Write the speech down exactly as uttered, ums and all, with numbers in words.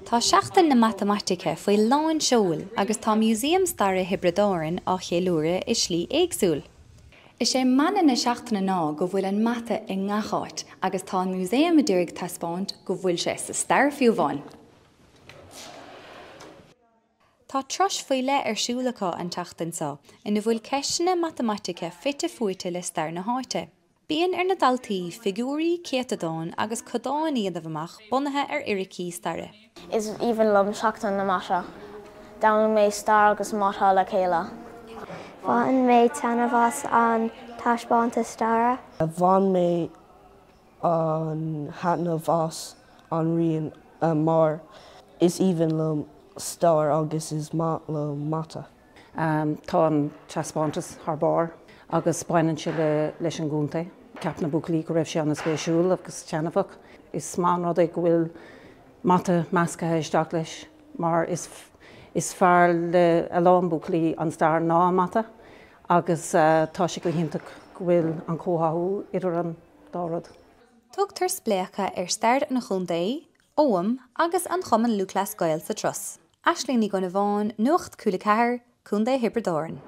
Tá Seachtain na Matamaitice faoi lán seoil agus tá Músaem Staire Thiobraid Árann á cheiliúradh i slí éagsúil. Is é mana na seachtaine ná go bhfuil an mata i ngach áit agus tá an músaem ag iarraidh taispeáint go bhfuil sé sa stair fiú amháin. Tá turas faoi leith ar siúl acu an tseachtain seo ina bhfuil ceisteanna matamaitice fite fuaite le stair na háite. Bíonn ar na daltaí figiúirí céatadáin agus codáin a dhéanamh amach bunaithe ar fhíricí staire. Is aoibhinn liom Seachtain na Mata. D'fhoghlaim mé stair agus mata le chéile. Bhain mé taitneamh as an taispeántas staire. Bhain mé an thaitneamh as an rian mar is aoibhinn liom stair agus is maith liom mata. Tá an taispeántas thar barr agus baineann sé le leis an gcontae. Cheap na buachaillí go raibh sé an-spéisiúil agus taitneamhach. Is maith an rud é go bhfuil mata measctha isteach leis mar is is fearr le a lán buachaillí an stair ná an mata agus uh, tá sé go hiontach go bhfuil an comhtháthú idir an dá rud. Tugtar spléachadh ar stair an chontae, Ogham agus an Chumann Lúthchleas Gael sa turas. Aisling Ní Dhonnabháin, Nuacht Cúla Ceathair, Contae Thiobraid Árann.